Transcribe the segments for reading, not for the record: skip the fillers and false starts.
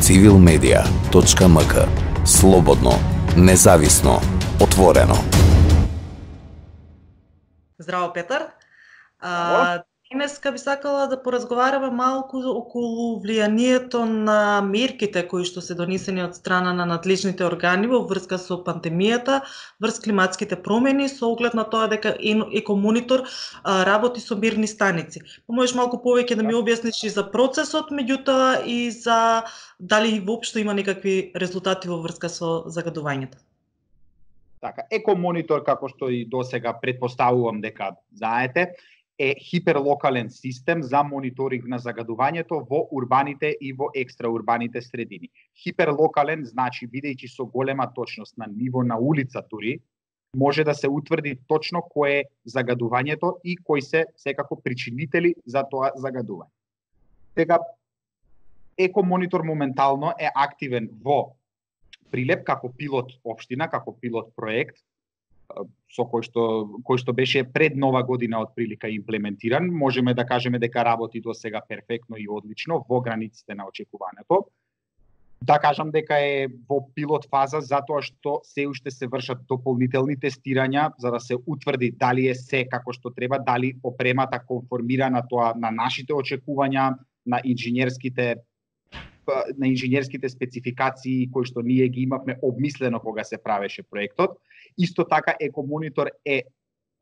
civilmedia.mk. Слободно, независно, отворено. Здраво, Петар. Денеска би сакала да поразговараме малку околу влијанието на мерките кои што се донесени од страна на надлежните органи во врска со пандемијата, врз климатските промени, со оглед на тоа дека Екомонитор работи со мерни станици. Можеш малку повеќе да ми објасниш и за процесот, меѓутоа и за дали воопшто има некакви резултати во врска со загадувањето? Така, Екомонитор, како што и досега претпоставувам дека знаете, е хиперлокален систем за мониторинг на загадувањето во урбаните и во екстраурбаните средини. Хиперлокален значи, бидејќи со голема точност на ниво на улица дури, може да се утврди точно кое е загадувањето и кои се секако причинители за тоа загадување. Сега, Екомонитор моментално е активен во Прилеп како пилот општина, како пилот проект, со кој што беше пред Нова година од прилика имплементиран. Можеме да кажеме дека работи до сега перфектно и одлично во границите на очекуваното. Да кажам дека е во пилот фаза затоа што се уште се вршат дополнителни тестирања за да се утврди дали е се како што треба, дали опремата конформира на тоа на нашите очекувања, на инженерските спецификации кои што ние ги имавме обмислено кога се правеше проектот. Исто така Екомонитор е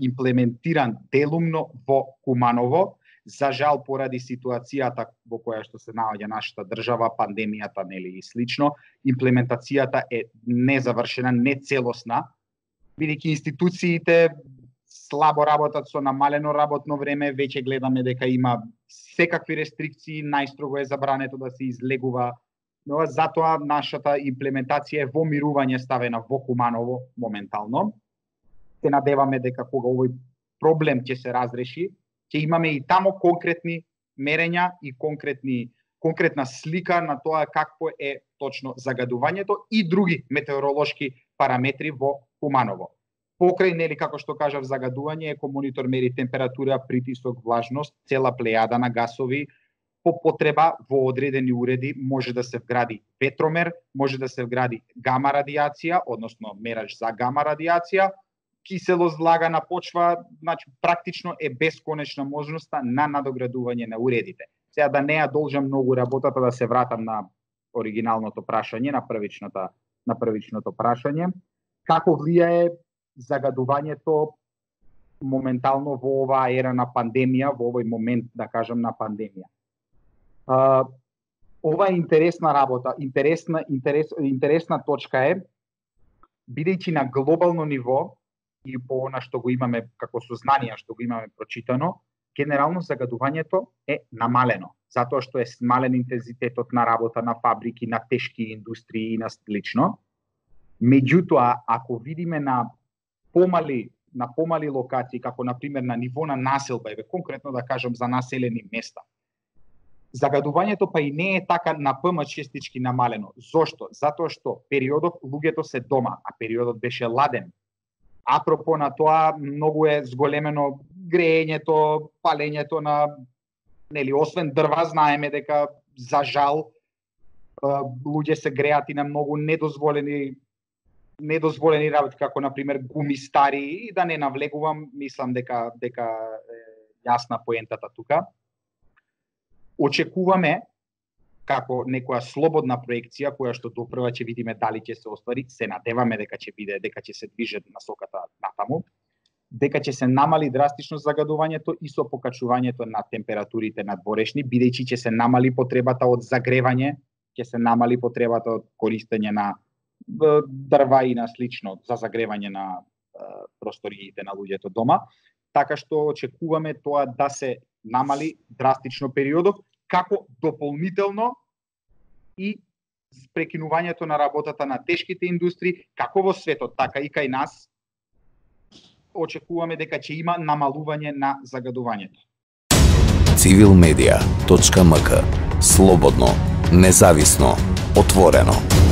имплементиран делумно во Куманово. За жал, поради ситуацијата во која што се наоѓа нашата држава, пандемијата нели и слично, имплементацијата е незавршена, нецелосна, бидејќи институциите слабо работат со намалено работно време, веќе гледаме дека има секакви рестрикции, најстрого е забрането да се излегува, но затоа нашата имплементација е во мирување ставена во Куманово моментално. Се надеваме дека кога овој проблем ќе се разреши, ќе имаме и тамо конкретни мерења и конкретна слика на тоа какво е точно загадувањето и други метеоролошки параметри во Куманово. Покрај, нели, како што кажав, загадување, Екомонитор мери температура, притисок, влажност, цела плејада на гасови. По потреба во одредени уреди може да се вгради ветромер, може да се вгради гама радијација, односно мерач за гама радијација, киселост, влага на почва, значи практично е бесконечна можноста на надоградување на уредите. Сега да не ја должам многу работата, да се вратам на оригиналното прашање, на првичното прашање. Како влијае загадувањето моментално во оваа ера на пандемија, во овој момент, да кажам, на пандемија? Ова е интересна работа, интересна точка е, бидејќи на глобално ниво и по она што го имаме како сознание, што го имаме прочитано, генерално загадувањето е намалено, затоа што е смален интензитетот на работа на фабрики, на тешки индустрии и на слично. Меѓутоа, ако видиме на помали локации, како например на ниво на населба, конкретно да кажам за населени места, загадувањето па и не е така честички намалено. Зошто? Затоа што периодот луѓето се дома, а периодот беше ладен. Апропо на тоа, многу е зголемено греењето, палењето на, нели, освен дрва, знаеме дека за жал луѓе се греат и на многу недозволени работи, како например гуми стари, и да не навлегувам, мислам дека е јасна поентата тука. Очекуваме како некоја слободна проекција која што допрва ќе видиме дали ќе се оствари, се надеваме дека ќе се движат насоката натаму, дека ќе се намали драстично загадувањето и со покачувањето на температурите надворешни, бидејќи ќе се намали потребата од загревање, ќе се намали потребата од користење на дрва и на слично за загревање на просториите на луѓето дома, така што очекуваме тоа да се намали драстично периодот, како дополнително и прекинувањето на работата на тешките индустрии, како во светот, така и кај нас, очекуваме дека ќе има намалување на загадувањето. civilmedia.mk. Слободно, независно, отворено.